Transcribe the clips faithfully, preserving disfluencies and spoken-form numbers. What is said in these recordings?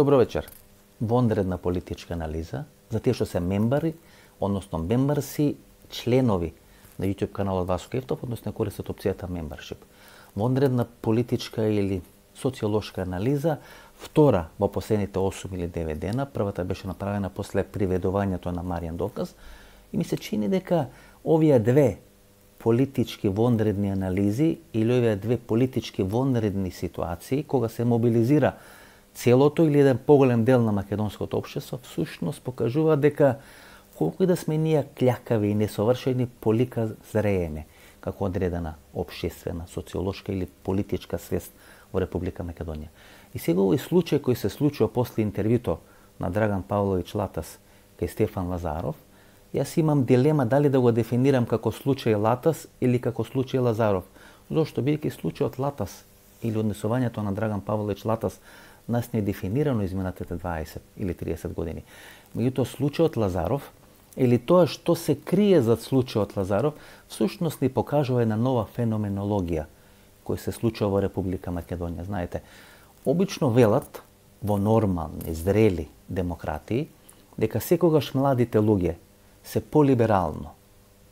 Добро вечер. Вонредна политичка анализа за тие што се мембари, односно мембарси, членови на YouTube каналот Васко Евтов, односно користат опцијата membership. Вонредна политичка или социолошка анализа, втора во последните осум или девет дена, првата беше направена после приведувањето на Маријан Доказ, и ми се чини дека овие две политички вонредни анализи или овие две политички вонредни ситуации, кога се мобилизира целото или еден поголем дел на македонското општество, всушност покажува дека колку и да сме ние кљакави и несовршени, полика зрееме како одредена општествена, социолошка или политичка свест во Република Македонија. И сега овој случај кој се случува после интервјуто на Драган Павлович Латас кај Стефан Лазаров, јас имам дилема дали да го дефинирам како случај Латас или како случај Лазаров. Зошто? Бидејќи случајот Латас или однесувањето на Драган Павлович Латас нас не е дефинирано изминатите дваесет или триесет години. Меѓутоа случајот Лазаров или тоа што се крие зад случајот Лазаров, всушност ни покажува една нова феноменологија која се случува во Република Македонија. Знаете, обично велат во нормални, зрели демократии дека секогаш младите луѓе се полиберално,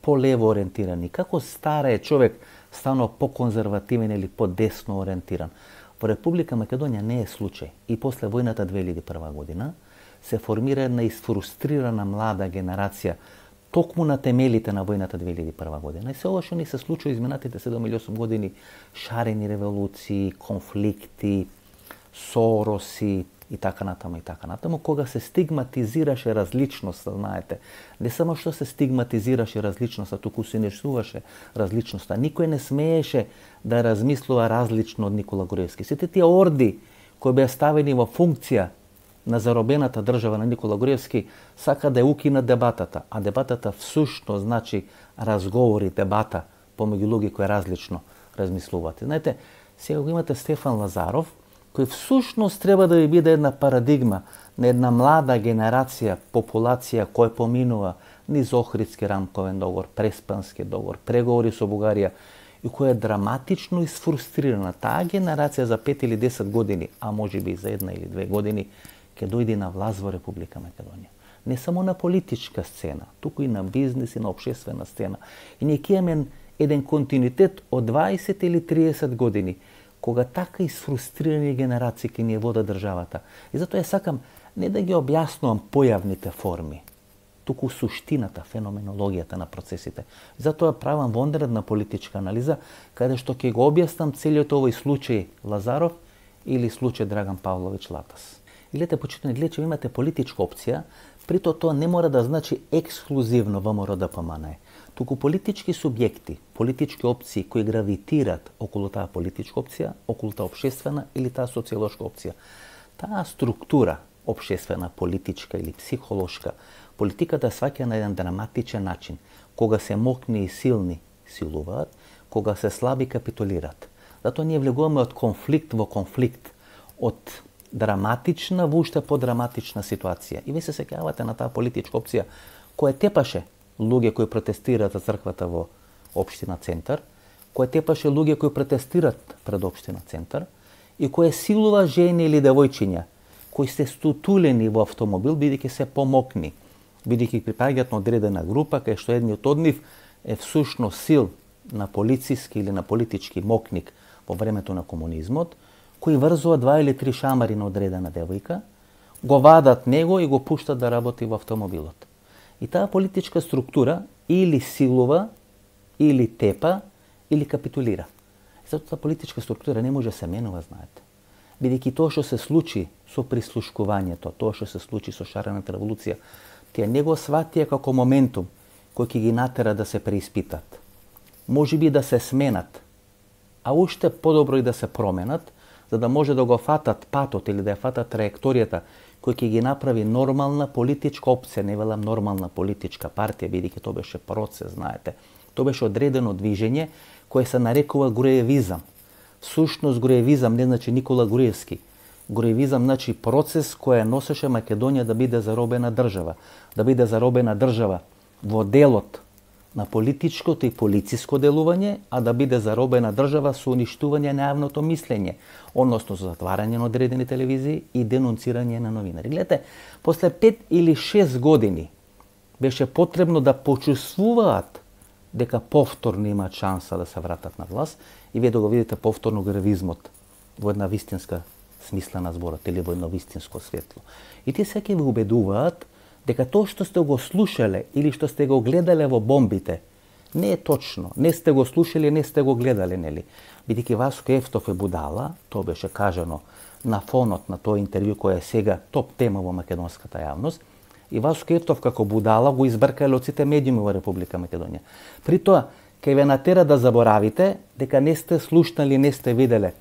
полево ориентирани, како старе човек станува поконзервативен или подесно ориентиран. Во Република Македонија не е случај. И после војната две илјади и прва година се формира една изфрустрирана млада генерација токму на темелите на војната две илјади и прва година. И се ова што ни се случува изминатите седум или осум години, шарени револуции, конфликти, Сороси и така натаму и така натаму, кога се стигматизираше различноста, знаете. Не само што се стигматизираше различноста, туку се несуваше различноста. Никој не смееше да размислува различно од Никола Груевски. Сите тие орди кои беа ставени во функција на заробената држава на Никола Груевски сака да ја укинат дебатата, а дебатата всушност значи разговори, дебата помеѓу луѓе кои различно размислуваат. Знаете, сега го имате Стефан Лазаров, кој всушност треба да ви биде една парадигма на една млада генерација, популација која поминува низ Охридски рамковен договор, Преспански договор, преговори со Бугарија и која е драматично изфрустрирана. Таа генерација за пет или десет години, а можеби и за една или две години, ќе дојде на власт во Република Македонија. Не само на политичка сцена, туку и на бизнес и на општествена сцена. И ние ќе имаме еден континуитет од дваесет или триесет години, кога така изфрустрирани генерации ке ни вода државата. И затоа ја сакам не да ги објаснувам појавните форми, туку суштината, феноменологијата на процесите. И затоа правам вонредна политичка анализа, каде што ќе го објаснам целиот овој случај Лазаров или случај Драган Павлович Латас. И гледате, почитувани гледачи, имате политичка опција, прито тоа не мора да значи ексклузивно ВМРО Д П М Н Е. Туку политички субјекти, политички опции кои гравитират околу таа политичка опција, околу таа општествена или таа социолошка опција. Таа структура, општествена, политичка или психолошка, политиката сваќа на еден драматичен начин. Кога се мокни и силни силуваат, кога се слаби капитулираат. Затоа ние влегуваме од конфликт во конфликт, од драматична во уште подраматична ситуација. И ви се сеќавате на таа политичка опција која тепаше луѓе кои протестираат за црквата во општина Центар, која тепаше луѓе кои протестираат пред општина Центар и која силува жени или девојчиња кои се стутулени во автомобил бидејќи се помокни, бидејќи припаѓаат на одредена група кај што едниот од нив е всушност сил на полициски или на политички мокник во времето на комунизмот, кои врзува два или три шамари на одредена девојка, го вадат него и го пуштат да работи во автомобилот. И таа политичка структура или силува, или тепа, или капитулира. Затоа таа политичка структура не може да се менува, знаете. Бидејќи тоа што се случи со прислушкувањето, тоа што се случи со шарената револуција, тие не го сватија како моментум кој ќе ги натера да се преиспитат. Можеби да се сменат, а уште подобро и да се променат, за да може да го фатат патот или да ја фатат траекторијата кој ќе ги направи нормална политичка опција, не велам нормална политичка партија, бидејќи тоа беше процес, знаете. Тоа беше одредено движење кое се нарекува Груевизам. Всушност Груевизам не значи Никола Груевски. Груевизам значи процес кој носеше Македонија да биде заробена држава, да биде заробена држава во делот на политичкото и полициско делување, а да биде заробена држава со уништување на јавното мислење, односно со затварање на одредени телевизии и денонцирање на новинари. Гледате, после пет или шест години беше потребно да почувствуваат дека повторно имаат шанса да се вратат на власт и вие да го видите повторно гравизмот во една вистинска смисла на зборот или во едно вистинско светло. И тие секи ви убедуваат дека тоа што сте го слушале или што сте го гледале во бомбите не е точно. Не сте го слушали, не сте го гледале, нели? Бидејќи Васко Ефтов е будала, тоа беше кажано на фонот на тоа интервју кој е сега топ тема во македонската јавност, и Васко Ефтов како будала го избркале од сите медиуми во Република Македонија. При тоа, кај ве натера да заборавите дека не сте слушнали, не сте виделе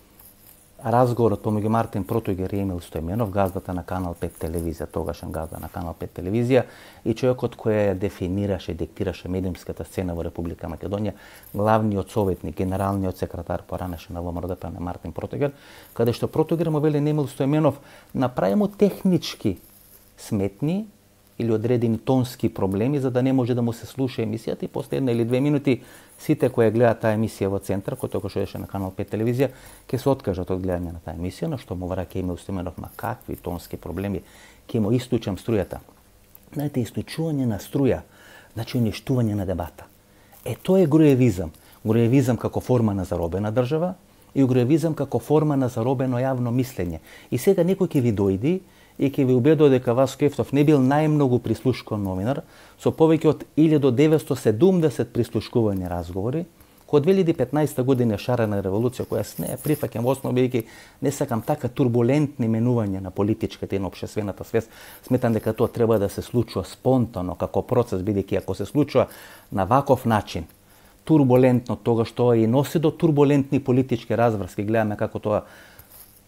разговорот помеѓу Мартин Протугер и Емил Стојменов, газдата на Канал пет телевизија, тогашен газда на Канал пет телевизија, и човекот кој ја дефинираше, диктираше медиумската сцена во Република Македонија, главниот советник, генералниот секретар поранеше на ВМРО-ДП на Мартин Протугер, каде што Протугер му вели на Емил Стојменов, направи му технички сметни или одредени тонски проблеми за да не може да му се слуша емисијата, и после една или две минути сите кои гледаат таа емисија во центар, кој тогаш беше на Канал пет телевизија, ќе се откажат од гледање на таа емисија, на што му враќа Емил Стојменов, ма какви тонски проблеми, ќе му истучам струјата. Знаете, истучување на струја, значи уништување на дебата. Е, тоа е груевизам. Груевизам како форма на заробена држава и груевизам како форма на заробено јавно мислење. И сега некој ќе ви дојди и ќе ви убедува дека Васко Ефтов не бил најмногу прислушкуван новинар, со повеќе од илјада деветстотини и седумдесет прислушкувани разговори, кој од две илјади и петнаесета година е шарена револуција, која с неја прифаќам во основа, бидејќи не сакам така турбулентни менувања на политичката и на општествената свест. Сметам дека тоа треба да се случува спонтано, како процес, бидејќи ако се случува на ваков начин, турбулентно, тогаш тоа и носи до турбулентни политички разврски. Гледаме како тоа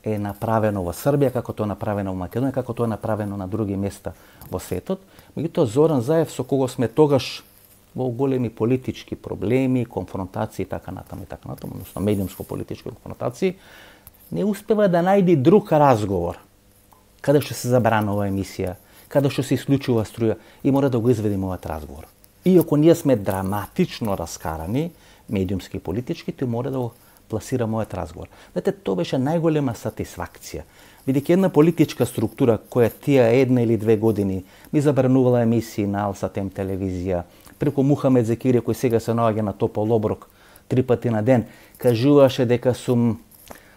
е направено во Србија, како тоа е направено во Македонија, како тоа е направено на други места во светот. Меѓутоа Зоран Заев, со кого сме тогаш во големи политички проблеми, конфронтации и така натаму и така натаму, односно медиумско-политички конфронтации, не успева да најде друг разговор каде што се забранува емисија, каде што се исклучува струја, и мора да го изведиме овој разговор. Иако ние сме драматично раскарани, медиумски и политички, тој мора да го пласира мојот разговор. Знаете, тоа беше најголема сатисфакција. Бидејќи една политичка структура која тие една или две години ми забранувала емисии на Алсатем телевизија, преку Мухамед Зекири, кој сега се наоѓа на топол оброк три пати на ден, кажуваше дека сум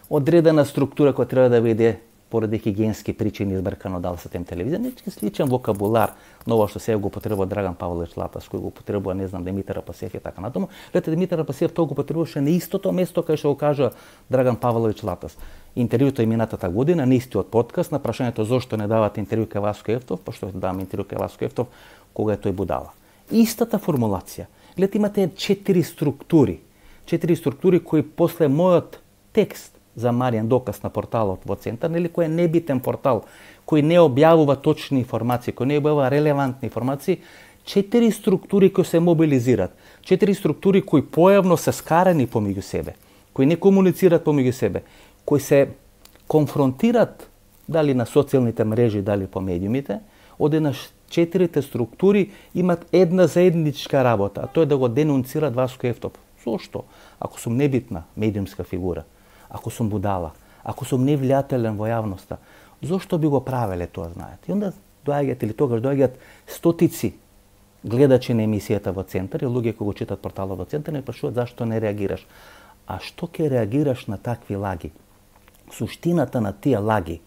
одредена структура која треба да биде поради хигиенски причини избркано од Алсатем телевизија. Нечки сличен вокабулар на ова што сега го потребува Драган Павлович Латас, кој го потребува, не знам, Димитар Апасиев и така натаму. Гледате, Димитар Апасиев тоа го потребуваше на истото место кај што го кажа Драган Павлович Латас. Интервјуто е минатата година, на истиот подкаст, на прашањето зошто не давате интервју кај Васко Ефтов, па што даваме интервју кај Васко Ефтов, кога е тој будала. Истата формулација. Гледате, имате четири структури. Четири структури кои после мојот текст за Маријан Доказ на порталот во Центар, нели, кој е небитен портал, кој не објавува точни информации, кој не објавува релевантни информации, четири структури кои се мобилизираат, четири структури кои појавно се скарани помеѓу себе, кои не комуницираат помеѓу себе, кои се конфронтират дали на социјалните мрежи, дали по медиумите, одеднаш четирите структури имат една заедничка работа, а тоа е да го денунцират Васко Ефтов. Зошто? Ако сум небитна медиумска фигура, ако сум будала, ако сум невлијателен во јавноста, зошто би го правеле тоа, знаете? И онда доаѓаат, или тогаш доаѓаат стотици гледачи на емисијата во Центар и луѓе кои го читат порталот во Центар и прашуваат зашто не реагираш. А што ќе реагираш на такви лаги? Суштината на тие лаги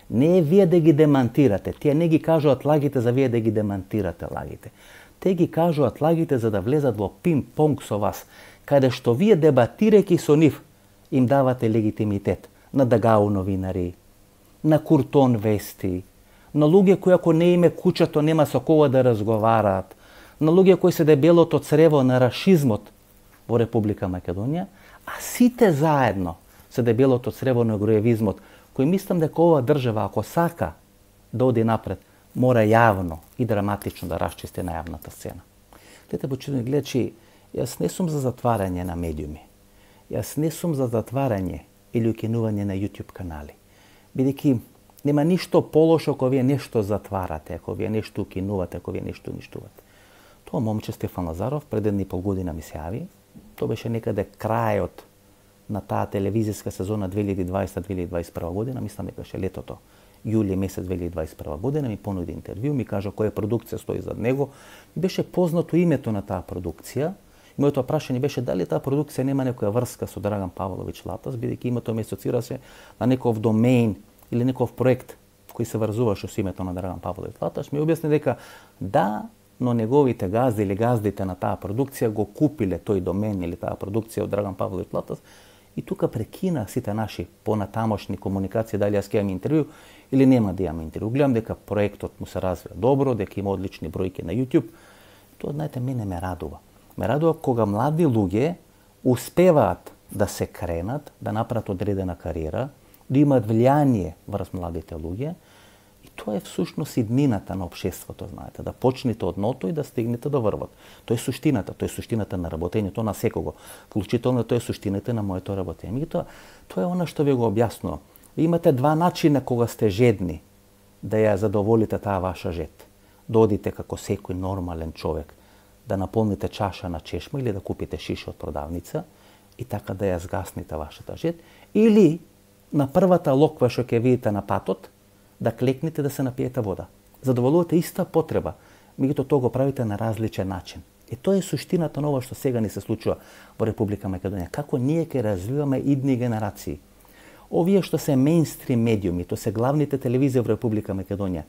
не е вие да ги демантирате. Тие не ги кажуваат лагите за вие да ги демантирате лагите. Те ги кажуваат лагите за да влезат во пинг-понг со вас, каде што вие дебатирајќи со нив им давате легитимитет на Дагау новинари, на Куртон вести, на луѓе кои ако не име куќато нема со кого да разговараат, на луѓе кои се дебелото црево на рашизмот во Република Македонија, а сите заедно се дебелото црево на груевизмот, кој мислам дека ова држава, ако сака да оди напред, мора јавно и драматично да расчисти на јавната сцена. Гледате, почитувани гледачи, јас не сум за затварање на медиуми. Јас не сум за затварање или укинување на YouTube канали. Бидејќи нема ништо полошо ако вие нешто затварате, ако вие нешто укинувате, ако вие нешто уништувате. Тоа момче Стефан Лазаров пред една и пол година ми се јави. Тоа беше некаде крајот на таа телевизиска сезона две илјади и дваесета - две илјади и дваесет и прва година, мислам дека беше летото, јули месец две илјади и дваесет и прва година, ми понуди интервју, ми кажа која продукција стои зад него. Ми беше познато името на таа продукција. Моето прашање беше дали таа продукција нема некоја врска со Драган Павлович Латас, бидејќи името ме асоцираше на некој домен или некој проект кој се врзуваше со името на Драган Павлович Латаш. Ми објасни дека да, но неговите газди или газдите на таа продукција го купиле тој домен или таа продукција од Драган Павлович Латас и тука прекина сите наши понатамошни комуникации дали јас ќе имам интервју или нема да имам интервју. Гледам дека проектот му се развива добро, дека има одлични бројки на YouTube. Тоа, знаете, мене ме радува. Ме радува кога млади луѓе успеваат да се кренат, да направат одредена кариера, да имаат влијание врз младите луѓе. И тоа е всушност иднината на општеството, знаете, да почнете од ното и да стигнете до врвот. Тоа е суштината, тоа е суштината на работењето на секого. Вклучително тоа е суштината на моето работење. Меѓутоа, тоа е она што ви го објаснувам. Ви имате два начина кога сте жедни да ја задоволите таа ваша жед. Да одите како секој нормален човек, да наполните чаша на чешма или да купите шиша од продавница и така да ја згасните вашата жед, или на првата локва што ќе видите на патот, да клекнете да се напиете вода. Задоволувате иста потреба, меѓутоа тоа го правите на различен начин. И тоа е суштината на ова што сега ни се случува во Република Македонија. Како ние ќе развиваме идни генерации. Овие што се мејнстрим медиуми, тоа се главните телевизии во Република Македонија,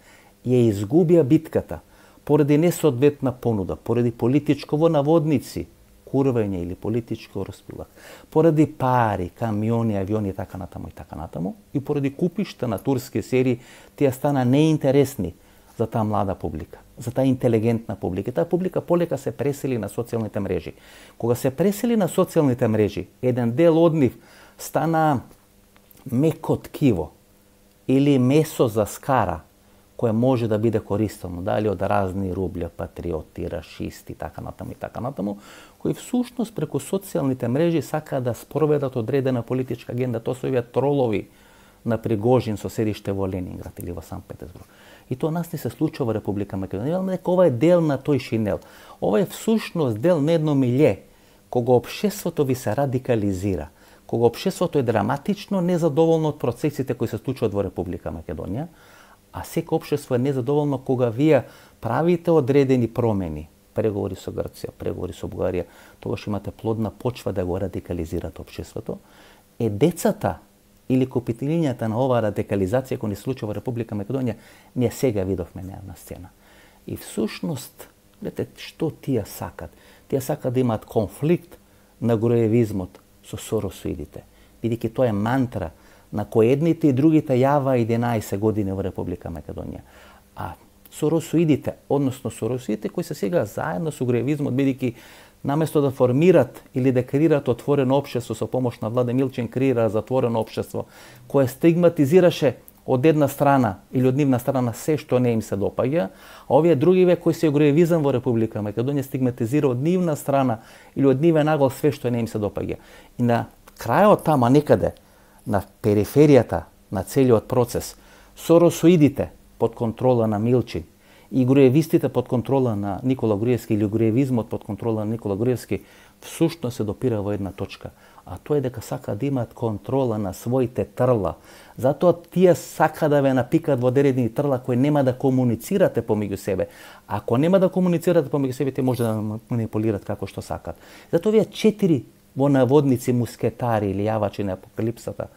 ја изгубија битката поради несоодветна понуда, поради политичко во наводници, курвење или политичко распилак, поради пари, камиони, авиони и така натаму и така натаму, и поради купишта на турски серии, тие стана неинтересни за таа млада публика, за таа интелигентна публика. Таа публика полека се пресели на социјалните мрежи. Кога се пресели на социјалните мрежи, еден дел од нив стана меко ткиво или месо за скара, кое може да биде користено, дали од разни рублја, патриоти, рашисти, така натаму и така натаму, кои всушност преку социјалните мрежи сакаат да спроведат одредена политичка агенда. Тоа се овие тролови на Пригожин со седиште во Ленинград или во Санкт Петербург. И тоа нас не се случува во Република Македонија. Дека ова е дел на тој шинел. Ова е всушност дел на едно милје, кога општеството ви се радикализира, кога општеството е драматично незадоволно од процесите кои се случуваат во Република Македонија, а секој општество е незадоволно кога вие правите одредени промени, преговори со Грција, преговори со Бугарија, тогаш имате плодна почва да го радикализирате општеството, е децата или копителињата на оваа радикализација која ни случува во Република Македонија, ние сега видовме неа на сцена. И всушност, гледате, што тие сакат? Тие сакат да имаат конфликт на груевизмот со соросоидите, бидејќи тоа е мантра на кој едните и другите јава единаесет години во Република Македонија. А соросоидите, односно соросоидите кои се сега заедно со груевизмот, бидејќи наместо да формират или да креират отворено општество со помош на Владе Милчин, креира затворено општество кое стигматизираше од една страна или од нивна страна се што не им се допаѓа, а овие другиве кои се груевизам во Република Македонија стигматизира од нивна страна или од нивен агол све што не им се допаѓа. И на крајот тама некаде, на периферијата на целиот процес, соросоидите под контрола на Милчин и груевистите под контрола на Никола Груевски или груевизмот под контрола на Никола Груевски всушност се допира во една точка, а тоа е дека сака да имаат контрола на своите трла. Затоа тие сака да ве напикат во одредени трла кои нема да комуницирате помеѓу себе. Ако нема да комуницирате помеѓу себе, те може да манипулират како што сакат. Затоа овие четири во наводници мускетари или јавачи на апокалипсата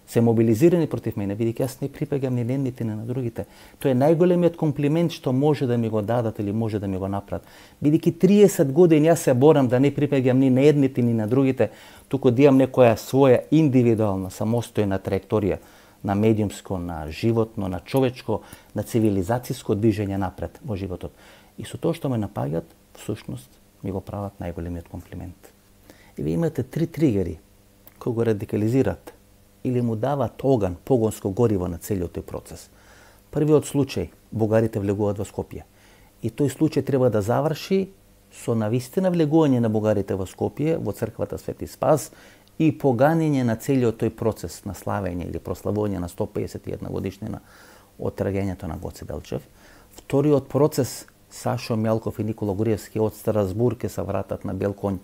се мобилизирани против мене, бидејќи јас не припаѓам ни на едните ни на другите. Тоа е најголемиот комплимент што може да ми го дадат или може да ми го направат. Бидејќи триесет години јас се борам да не припаѓам ни на едните ни на другите, туку да имам некоја своја индивидуална, самостојна траекторија на медиумско, на животно, на човечко, на цивилизацијско движење напред во животот. И со тоа што ме напаѓат, всушност ми го прават најголемиот комплимент. И ви имате три тригери кои го радикализират или му дават оган, погонско гориво на целиот тој процес. Првиот случај, бугарите влегуваат во Скопје. И тој случај треба да заврши со навистина влегување на бугарите во Скопје, во црквата Свети Спас и поганење на целиот тој процес на славење или прославување на сто педесет и една годишнина од трагењето на Гоце Делчев. Вториот процес Сашо Мјалков и Никола Груевски од Страсбург ќе се вратат на бел конј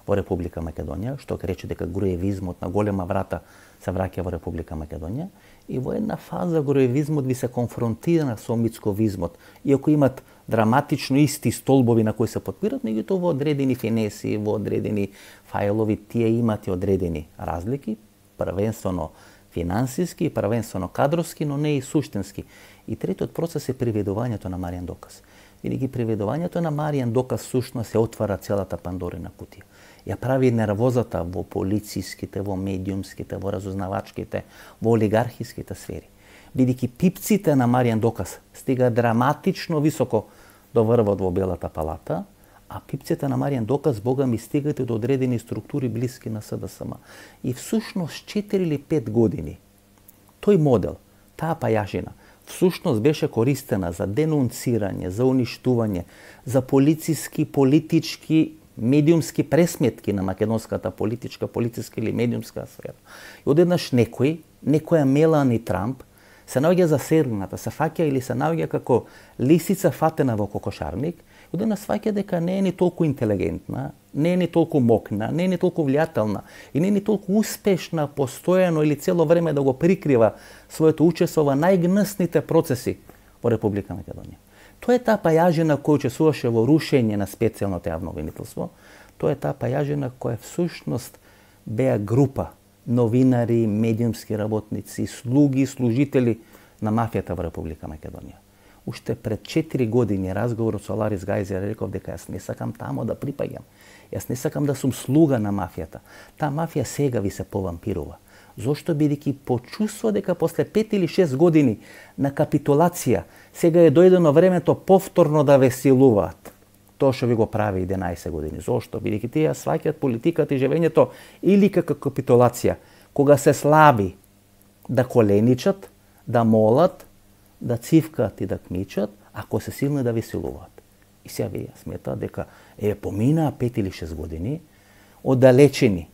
во Република Македонија, што ќе рече дека груевизмот на голема врата се враќа во Република Македонија, и во една фаза груевизмот ви се конфронтира со мицковизмот, иако имат драматично исти столбови на кои се подпират, меѓутоа во одредени финеси, во одредени фајлови тие имат и одредени разлики, првенствено финансиски, првенствено кадровски, но не и суштински. И третиот процес е приведувањето на Маријан Доказ. Бидејќи приведувањето на Маријан Доказ всушност се отвара целата Пандорина кутија. Ја прави нервозата во полициските, во медиумските, во разузнавачките, во олигархиските сфери. Бидејќи пипците на Маријан Доказ стига драматично високо до врвот во Белата палата, а пипците на Маријан Доказ, бога ми, стигате до одредени структури блиски на СДСМ. И всушност четири или пет години тој модел, таа пајашина, всушност беше користена за денунцирање, за уништување, за полициски, политички, медиумски пресметки на македонската политичка, политичка или медиумска сфера. И одеднаш некој, некоја Мелани Трамп, се наоѓа засегната, се фаќа или се наоѓа како лисица фатена во кокошарник, и одеднаш сваќа дека не е ни толку интелигентна, не е ни толку мокна, не е ни толку влијателна и не е ни толку успешна постојано или цело време да го прикрива своето учество во најгнесните процеси во Република Македонија. Тоа е таа пајажина која учествуваше во рушење на специјалното јавно обвинителство. Тоа е таа пајажина која всушност беа група новинари, медиумски работници, слуги, служители на мафијата во Република Македонија. Уште пред четири години разговорот со Ларис Гајзер реков дека јас не сакам тамо да припаѓам. Јас не сакам да сум слуга на мафијата. Таа мафија сега ви се повампирува. Зошто? Бидејќи почувствува дека после пет или шест години на капитулација сега е дојдено времето повторно да ве силуваат. Тоа што ви го прави единаесет години. Зошто? Бидејќи тие сваќаат политиката и живењето или како капитулација, кога се слаби да коленичат, да молат, да цивкаат и да кмичат, ако се силни да ви силуваат. И сега вие сметаат дека е поминаа пет или шест години, оддалечени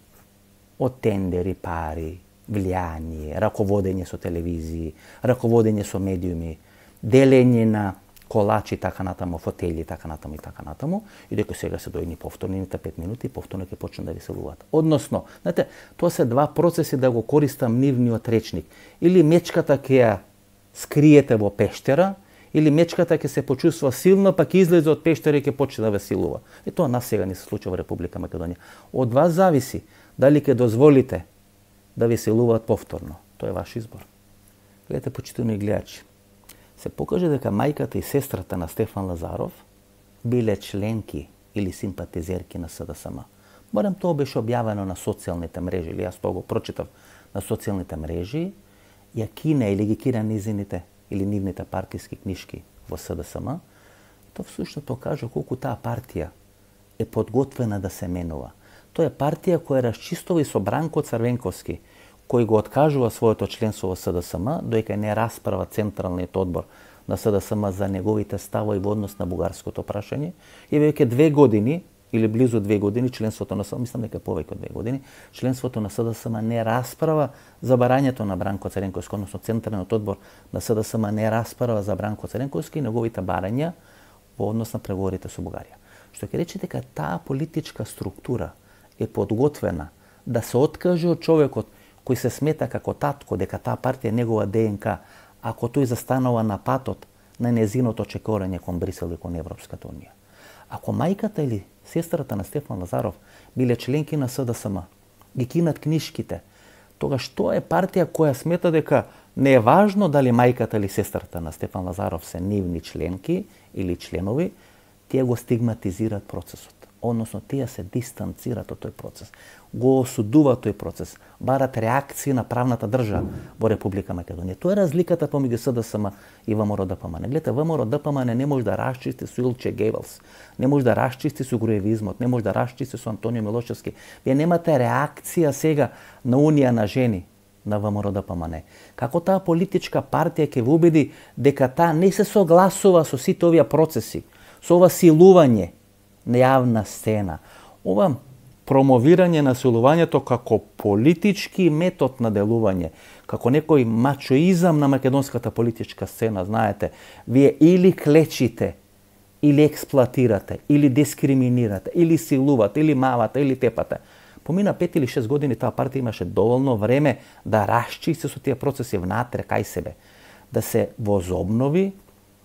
од тендери, пари, влијание, раководење со телевизии, раководење со медиуми, делење на колачи, така натаму, фотели, така натаму и така натаму, и дека сега се дојдени повторните пет минути, повторно ќе почнат да ви силуваат. Односно, знаете, тоа се два процеси да го користам нивниот речник. Или мечката ќе ја скриете во пештера, или мечката ќе се почувствува силно, па ќе излезе од пештера и ќе почне да ве силува. И тоа нас сега не се случува во Република Македонија. Од вас зависи дали ќе дозволите да ви силуваат повторно. Тоа е ваш избор. Гледате, почитувани гледачи, се покаже дека мајката и сестрата на Стефан Лазаров биле членки или симпатизерки на СДСМ. Барем тоа беше објавено на социјалните мрежи, или јас тоа го прочитав на социјалните мрежи, ја кина или ги кина низините или нивните партиски книшки во СДСМ, тоа всушност покажа колку таа партија е подготвена да се менува. Тоа е партија која расчистува и со Бранко Црвенковски, кој го откажува своето членство во СДСМ, доека не расправа Централниот одбор на СДСМ за неговите ставови во однос на бугарското прашање, и веќе две години или близу две години членството на СДСМ, мислам дека повеќе од две години, членството на СДСМ не расправа за барањето на Бранко Црвенковски, односно Централниот одбор на СДСМ не расправа за Бранко Црвенковски и неговите барања во однос на преговорите со Бугарија. Што ќе рече дека таа политичка структура е подготвена да се откаже од човекот кој се смета како татко, дека таа партија е негова ДНК, ако тој застанува на патот на незиното чекорање кон Брисел и кон Европската унија. Ако мајката или сестрата на Стефан Лазаров биле членки на СДСМ, ги кинат книшките, тогаш тоа е партија која смета дека не е важно дали мајката или сестрата на Стефан Лазаров се нивни членки или членови, тие го стигматизираат процесот. Односно, тие се дистанцираат од тој процес, го осудуваат тој процес, барат реакции на правната држава во Република Македонија. Тоа е разликата помеѓу СДСМ и ВМРО-ДПМН. Гледате, ВМРО-ДПМН не може да расчисти со Илче Гевелс, не може да расчисти со груевизмот, не може да расчисти со Антонио Милошевски. Вие немате реакција сега на Унија на жени на ВМРО-ДПМН. Како таа политичка партија ќе ви убеди дека таа не се согласува со сите овие процеси, со ова силување на јавна сцена, ова промовирање на силувањето како политички метод на делување, како некој мачоизам на македонската политичка сцена, знаете, вие или клечите или експлоатирате, или дискриминирате, или силувате, или мавате, или тепате. Помина пет или шест години таа партија имаше доволно време да расчисти со тие процеси внатре кај себе, да се возобнови,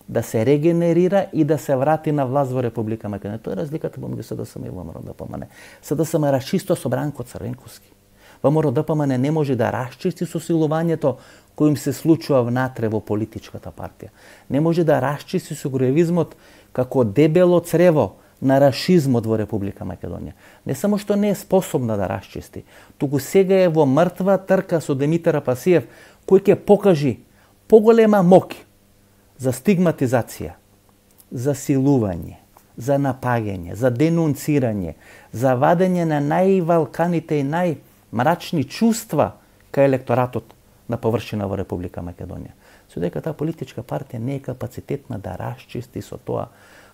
да се регенерира и да се врати на власт во Република Македонија. Тоа е разликата помеѓу СДСМ и ВМРО ДПМН. СДСМ расчисто со Бранко Црвенковски. ВМРО ДПМН не може да расчисти со силувањето кој им се случува внатре во политичката партија. Не може да расчисти со груевизмот како дебело црево на рашизмот во Република Македонија. Не само што не е способна да расчисти, туку сега е во мртва трка со Димитар Апасиев, кој ќе покажи поголема моќ за стигматизација, за силување, за напаѓање, за денунцирање, за вадење на највалканите и најмрачни чувства кај електоратот на површина во Република Македонија. Со дека таа политичка партија не е капацитетна да расчисти со тоа,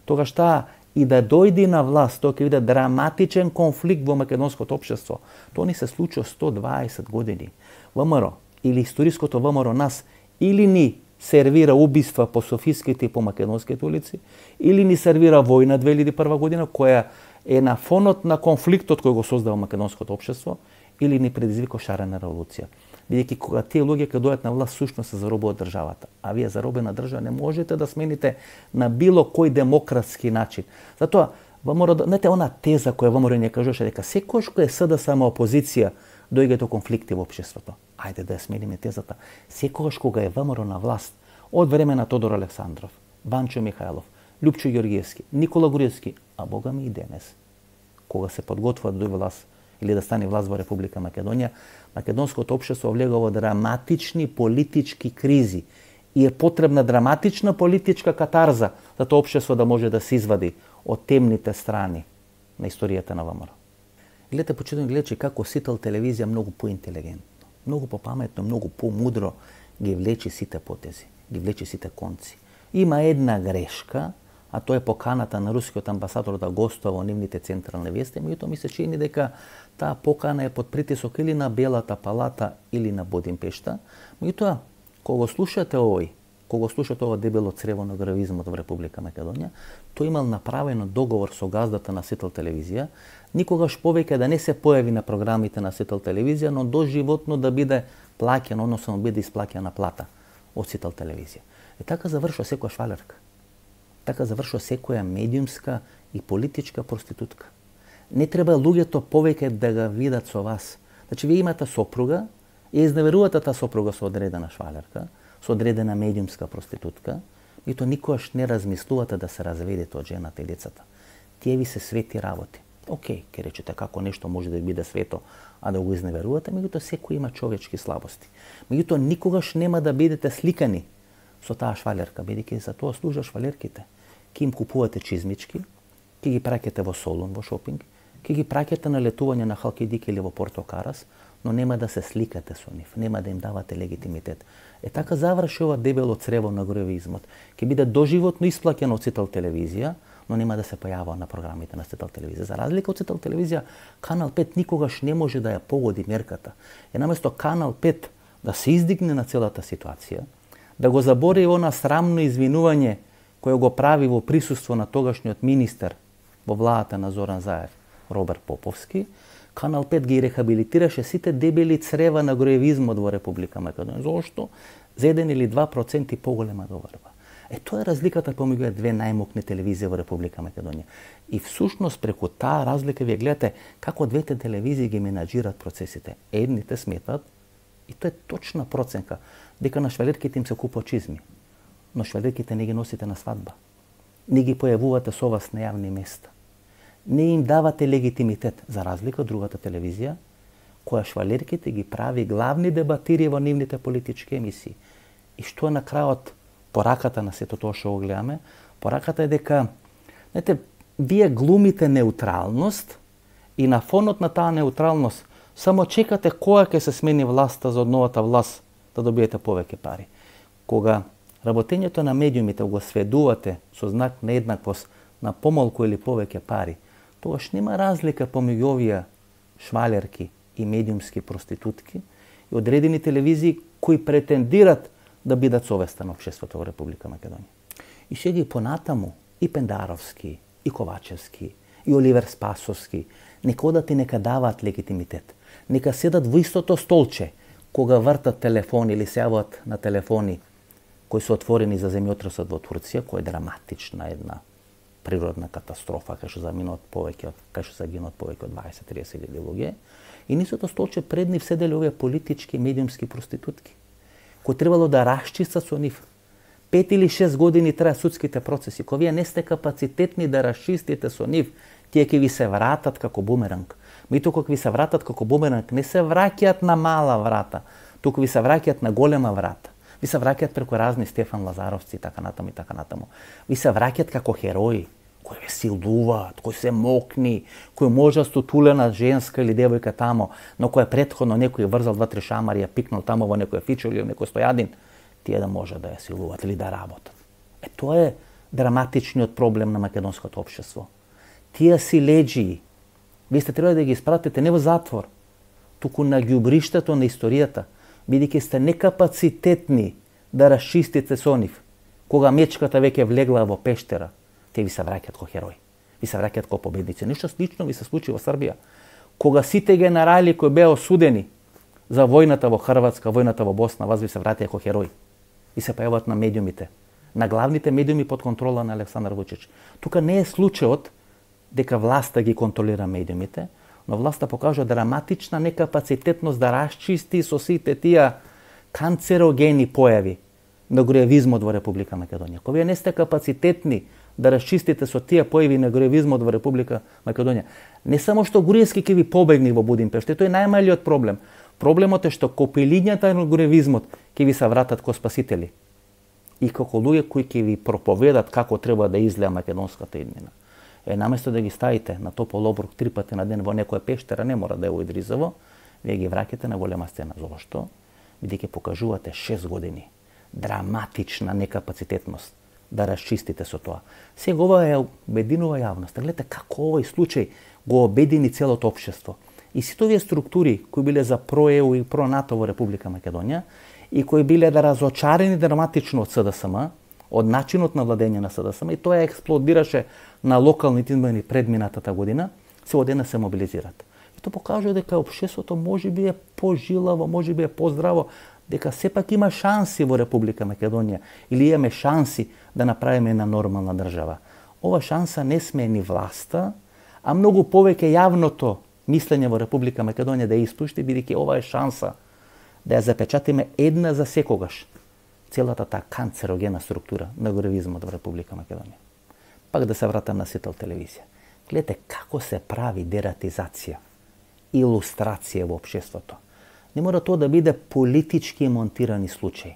тогаш таа и да дојде на власт, тоа ќе биде драматичен конфликт во македонското општество. Тоа ни се случи сто дваесет години. ВМРО или историското ВМРО нас или ни сервира убиства по софиските и по македонските улици, или ни сервира војна две илјади и прва година, која е на фонот на конфликтот кој го создава македонското општество, или ни предизвика шарена револуција. Бидејќи кога тие луѓе ќе дојдат на власт, сушност се заробуваат државата. А вие заробена држава не можете да смените на било кој демократски начин. Затоа, ВМРО, знаете, она теза која ВМРО не кажуваше дека секојаш кој е СДСМ опозиција дојде до конфликти во општеството. Ајде да ја смениме тезата. Секогаш кога е ВМРО на власт, од време на Тодор Александров, Ванчо Михајлов, Љупчо Ѓоргиевски, Никола Груевски, а бога ми и денес, кога се подготвува да дојде власт или да стане власт во Република Македонија, македонското општество влега во драматични политички кризи и е потребна драматична политичка катарза за тоа општество да може да се извади од темните страни на историјата на ВМРО. Гледате, почитувани гледачи, како Сител телевизија многу поинтелигентно, многу попаметно, многу помудро ги влечи сите потези, ги влечи сите конци. Има една грешка, а тоа е поканата на рускиот амбасадор да гостува во нивните централни вести, меѓутоа ми се чини дека таа покана е под притисок или на Белата палата или на Будимпешта. Меѓутоа, кога го слушате овој, кога го слушате ова дебело црево на гравизмот во Република Македонија, тој имал направено договор со газдата на Сител телевизија, никогаш повеќе да не се појави на програмите на Сител телевизија, но доживотно да биде плаќен, односно да биде исплаќена плата од Сител телевизија. И така завршува секоја швалерка. Така завршува секоја медиумска и политичка проститутка. Не треба луѓето повеќе да ga видат со вас. Значи, вие имате сопруга и изневерувате таа сопруга со одредена швалерка, со одредена медиумска проститутка, и то никогаш не размислувате да се разведете од жената и децата. Тие ви се свети работи. Океј, ке речете како нешто може да биде свето, а да го изневерувате, меѓутоа секој има човечки слабости. Меѓутоа никогаш нема да бидете сликани со таа швалерка, бидејќи за тоа служат швалерките. Ке им купувате чизмички, ке ги праќате во Солун, во шопинг, ке ги праќате на летување на Халкидик или во Порто Карас, но нема да се сликате со нив, нема да им давате легитимитет. Е така заврши ова дебело црево на гравизмот. Ке биде доживотно исплаќено од Сител телевизија, но нема да се појавува на програмите на Сител телевизија. За разлика од Сител телевизија, Канал пет никогаш не може да ја погоди мерката. Е наместо Канал пет да се издигне на целата ситуација, да го забори она срамно извинување кој го прави во присуство на тогашниот министер во владата на Зоран Заев, Роберт Поповски, Канал пет ги рехабилитираше сите дебели црева на гроевизмот во Република Македонија. Зошто? За еден или два проценти поголема доварба. Е, тоа е разликата помеѓу две најмокни телевизии во Република Македонија. И всушност преку таа разлика вие гледате како двете телевизии ги менаџират процесите. Едните сметат, и тоа е точна проценка, дека на швалерките им се купува чизми, но швалерките не ги носите на свадба. Не ги појавувате со вас на јавни места. Не им давате легитимитет, за разлика од другата телевизија, која швалерките ги прави главни дебатири во нивните политички емисии. И што е на крајот пораката на сето тоа што го гледаме? Пораката е дека, знаете, вие глумите неутралност и на фонот на таа неутралност само чекате која ќе се смени власта за од новата власт да добиете повеќе пари. Кога работењето на медиумите го сведувате со знак на еднаквост на помалку или повеќе пари, тогаш нема разлика помеѓу овие швалерки и медиумски проститутки и одредени телевизии кои претендират да бидат совеста на општеството во Република Македонија. И ще ги понатаму, и Пендаровски, и Ковачевски, и Оливер Спасовски, нека одат и нека даваат легитимитет. Нека седат во истото столче, кога вртат телефони или се јават на телефони кои се отворени за земјотресот во Турција, која е драматична една природна катастрофа, кај што заминат повеќе, кај што загинат повеќе од дваесет до триесет илјади луѓе, и нисото столче пред нив седеле овие политички медиумски проститутки, кои требало да расчистат со нив. Пет или шест години траја судските процеси. Кога вие не сте капацитетни да расчистите со нив, тие ќе ви се вратат како бумеранг. Меѓутоа кога ви се вратат како бумеранг, не се враќаат на мала врата, туку ви се враќаат на голема врата. Ви се враќаат преку разни Стефан Лазаровци и така натаму и така натаму. Ви се враќаат како херои, кои ве силуваат, кои се мокни, кои може стотулена женска или девојка тамо, но која претходно некој врзал два-три шамари, ја пикнал тамо во некој фичо или во некој стојадин, тие да може да ја силуваат или да работат. Е, тоа е драматичниот проблем на македонското општество. Тие си леđии, вие сте треба да ги испратите не во затвор, туку на ѓубриштето на историјата, бидејќи сте некапацитетни да расчистите со нив. Кога мечката веќе влегла во пештера, те ви се враќаат ко херои. Ви се враќаат ко победници. Ништо слично ви се случи во Србија. Кога сите генерали кои беа осудени за војната во Хрватска, војната во Босна, вас ви се враќаат ко херои. И се појават на медиумите, на главните медиуми под контрола на Александар Вучич. Тука не е случајот дека власта ги контролира медиумите, но власта покажа драматична некапацитетност да расчисти со сите тие канцерогени појави на греевизмот во Република Македонија. Кога вие не сте капацитетни да расчистите со тие појави на греевизмот во Република Македонија, не само што Груевски ќе ви побегни во Будимпешта, тој е најмалиот проблем. Проблемот е што копилињата на греевизмот ќе ви се вратат ко спасители и како луѓе кои ќе ви проповедат како треба да изгледа македонската иднина. Е, наместо да ги ставите на топол обрук три пати на ден во некоја пештера, не мора да е во Идризово, вие ги враќате на голема сцена. Зошто? Бидејќи покажувате шест години драматична некапацитетност да расчистите со тоа. Сега ова е обединува јавност. Гледате како овој случај го обедини целото општество. И сите овие структури кои биле за про-ЕУ и про-НАТО во Република Македонија и кои биле да разочарени драматично од СДСМ, од начинот на владење на СДСМ, и тоа експлодираше на локалните избори предминатата година, се одена се мобилизираат. И тоа покажува дека општеството можеби е пожилаво, можеби е поздраво, дека сепак има шанси во Република Македонија или имаме шанси да направиме една нормална држава. Ова шанса не сме ни власта, а многу повеќе јавното мислење во Република Македонија да ја испушти, бидејќи ова е шанса да ја запечатиме една за секогаш целата таа канцерогена структура на греевизмот во Република Македонија. Пак да се вратам на Сител телевизија. Гледате како се прави дератизација, илустрација во општеството. Не мора тоа да биде политички монтирани случаи.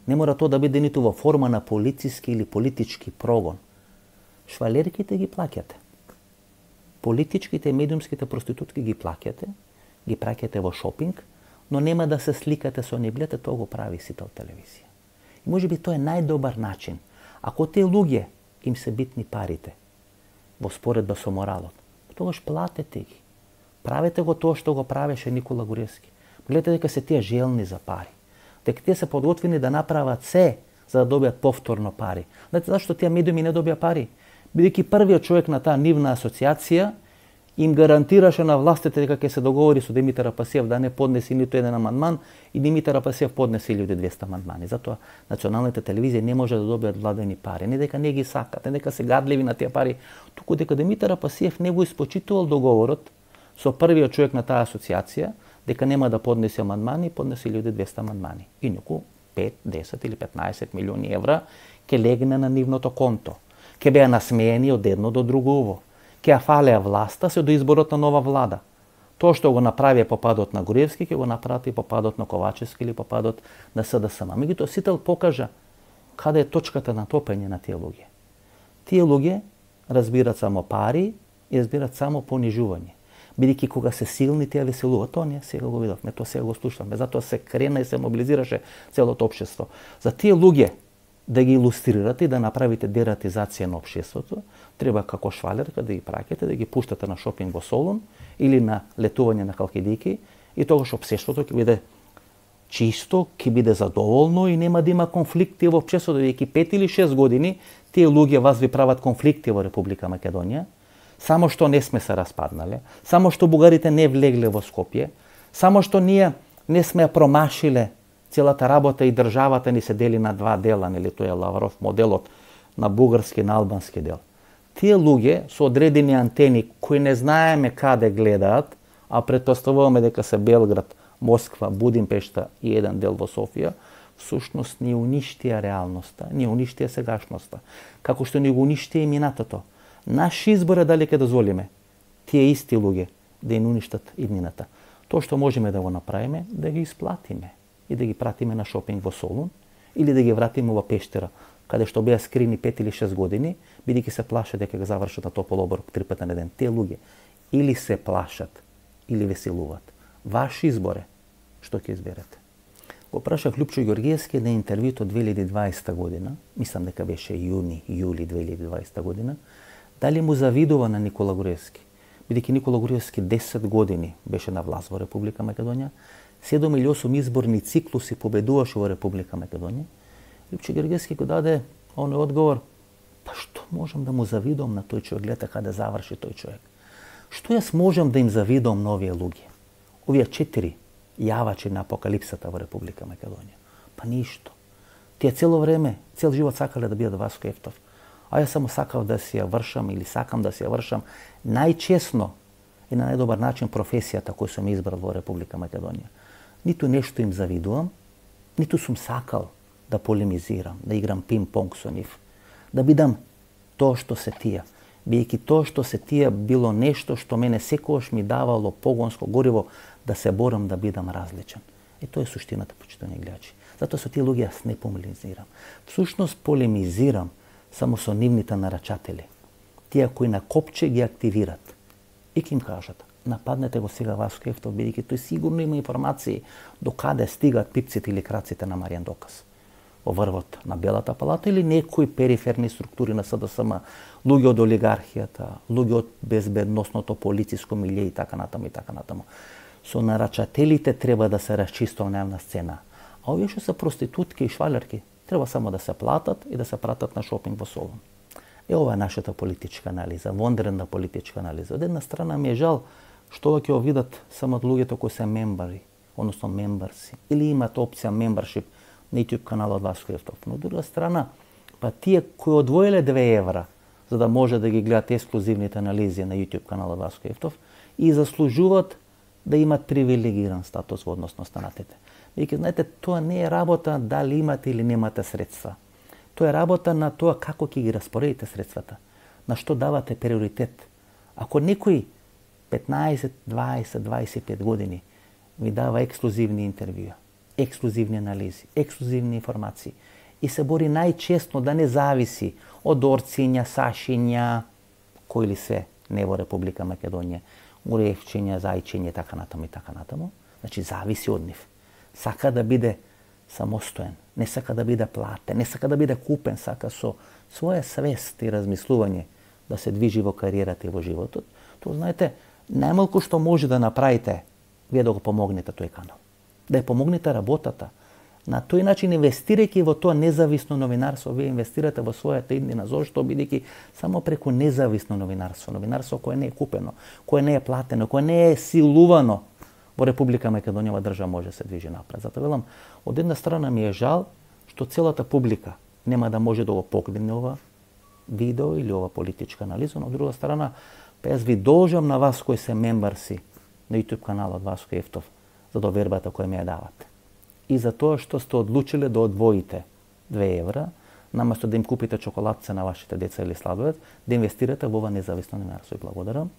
Не мора тоа да биде ниту во форма на полициски или политички прогон. Швалерките ги плаќате. Политичките и медиумските проститутки ги плаќате, ги праќате во шопинг, но нема да се сликате со нив. Гледате, тоа го прави Сител телевизија. И можеби тоа е најдобар начин. Ако тие луѓе им се битни парите во споредба со моралот, тогаш платете ги. Правете го тоа што го правеше Никола Груевски. Гледате дека се тие желни за пари. Дека тие се подготвени да направат се за да добијат повторно пари. Знаете зашто тие медиуми не добија пари? Бидејќи првиот човек на таа нивна асоциација им гарантираше на властите дека ќе се договори со Димитар Апасиев да не поднесе ниту еден амандман и Димитар Апасиев поднесе илјади и двесте амандмани. Затоа националните телевизии не може да добијат владени пари. Не дека не ги сакат, не дека се гадливи на тие пари, туку дека Димитар Апасиев не го испочитувал договорот со првиот човек на таа асоциација дека нема да поднесе амандмани, поднесе илјади и двесте амандмани. Инаку пет, десет или петнаесет милиони евра ќе легне на нивното конто. Ќе беа насмеени од едно до друго, ќе ја фалеа власта се до изборот на нова влада. Тоа што го направи по падот на Груевски, ќе го направи и по падот на Ковачевски или по падот на СДСМ. Меѓутоа Сител покажа каде е точката на топење на тие луѓе. Тие луѓе разбират само пари и разбират само понижување. Бидејќи кога се силни, тие веселуваат. Тоа ние сега го видовме, тоа сега го слушаме. Затоа се крена и се мобилизираше целото општество. За тие луѓе да ги илустрирате и да направите дератизација на општеството, треба како швалерка да ги праќате, да ги пуштате на шопинг во Солун или на летување на Халкидики и тогаш општеството ќе биде чисто, ќе биде задоволно и нема да има конфликти во општеството, додека пет или шест години тие луѓе вас ви прават конфликти во Република Македонија, само што не сме се распаднале, само што бугарите не влегле во Скопје, само што ние не сме промашиле целата работа и државата ни се дели на два дела, нели тоа е Лавров моделот на бугарски и на албански дел. Тие луѓе со одредени антени кои не знаеме каде гледаат, а претпоставуваме дека се Белград, Москва, Будимпешта и еден дел во Софија, всушност ни уништија реалноста, ни уништија сегашноста, како што ни го уништија и минатото. Наш избор е дали ќе дозволиме тие исти луѓе да им уништат иднината. Тоа што можеме да го направиме, да ги исплатиме и да ги пратиме на шопинг во Солун или да ги вратиме во Пештера, каде што беа скрини пет или шест години, бидејќи се плашат дека го завршат на топол оброк три пати на ден. Те луѓе или се плашат, или веселуваат. Ваш избор е што ќе изберете. Го прашав Лјупчо Ѓоргиевски на интервјуто две илјади и дваесета година, мислам дека беше јуни, јули две илјади и дваесета година, дали му завидува на Никола Груевски. Бидејќи Никола Груевски десет години беше на власт во Република Македонија, седум или осум изборни циклуси победуваше во Република Македонија, Лјупчо Ѓоргиевски го даде оној одговор: па што можам да му завидувам на тој човек, гледа каде заврши тој човек. Што јас можам да им завидувам на овие луѓе? Овие четири јавачи на апокалипсата во Република Македонија. Па ништо. Тие цело време, цел живот сакале да бидат Васко Ефтов. А јас само сакав да си ја вршам или сакам да си ја вршам најчесно и на најдобар начин професијата која сум избрал во Република Македонија. Ниту нешто им завидувам, ниту сум сакал да полемизирам, да играм пинг-понг со нив, да бидам тоа што се тие. Бијќи тоа што се тие било нешто што мене секогаш ми давало погонско гориво да се борам да бидам различен. И тоа е суштината, почитувани гледачи. Затоа со тие луѓе јас не полемизирам. Всушност полемизирам само со нивните нарачатели. Тие кои на копче ги активират. И ќе им кажат: нападнете го сега Васко Ефтов, бидејќи тој сигурно има информации до каде стигат пипците или краците на Маријан Доказ во врвот на Белата палата или некои периферни структури на СДСМ, луѓе од олигархијата, луѓе од безбедносното полициско милје и така натаму и така натаму. Со нарачателите треба да се расчистува на јавна сцена. А овие што се проститутки и швалерки треба само да се платат и да се пратат на шопинг во Солун. Е, ова е нашата политичка анализа, вонредна политичка анализа. Од една страна ми е жал што ќе го видат само луѓето кои се мембари, односно мембарси, или имат опција мембаршип на YouTube каналот Васко Ефтов. Но од друга страна, па тие кои одвоиле две евра за да може да ги гледат ексклузивните анализи на YouTube каналот Васко Ефтов и заслужуваат да имат привилегиран статус во однос на останатите. Веќе знаете, тоа не е работа дали имате или немате средства. Тоа е работа на тоа како ќе ги распоредите средствата, на што давате приоритет. Ако некој петнаесет, дваесет, дваесет и пет години ви дава ексклузивни интервјуа, ексклузивни анализи, ексклузивни информации и се бори најчестно да не зависи од орциња, сашиња, кои ли се не во Република Македонија, Груевчиња, Зајчиња, така натаму и така натаму, значи зависи од нив. Сака да биде самостоен, не сака да биде платен, не сака да биде купен, сака со своја свест и размислување да се движи во кариерата и во животот. Тоа, знаете, најмалку што може да направите, вие да го помогнете тој канал. Да ја помогнете работата. На тој начин, инвестирајќи во тоа независно новинарство, вие инвестирате во својата иднина. Зошто? Бидејќи само преку независно новинарство, новинарство кое не е купено, кое не е платено, кое не е силувано, во Република Македонија држава може да се движи напред. Затоа велам, од една страна ми е жал што целата публика нема да може да го погледне ова видео или ова политичка анализа, но од друга страна, па јас ви должам на вас кои се мембарси на YouTube каналот Васко Ефтов за довербата која ми ја давате. И за тоа што сте одлучиле да одвоите две евра, наместо да им купите чоколадце на вашите деца или сладолед, да инвестирате во ова независно новинарство. И благодарам.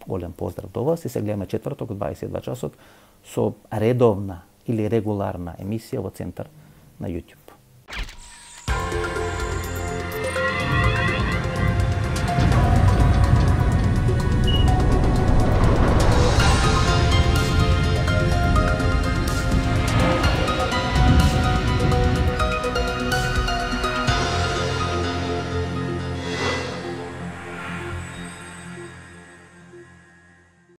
Голем поздрав до вас и се гледаме четврток од дваесет и два часот со редовна или регуларна емисија во центар на YouTube.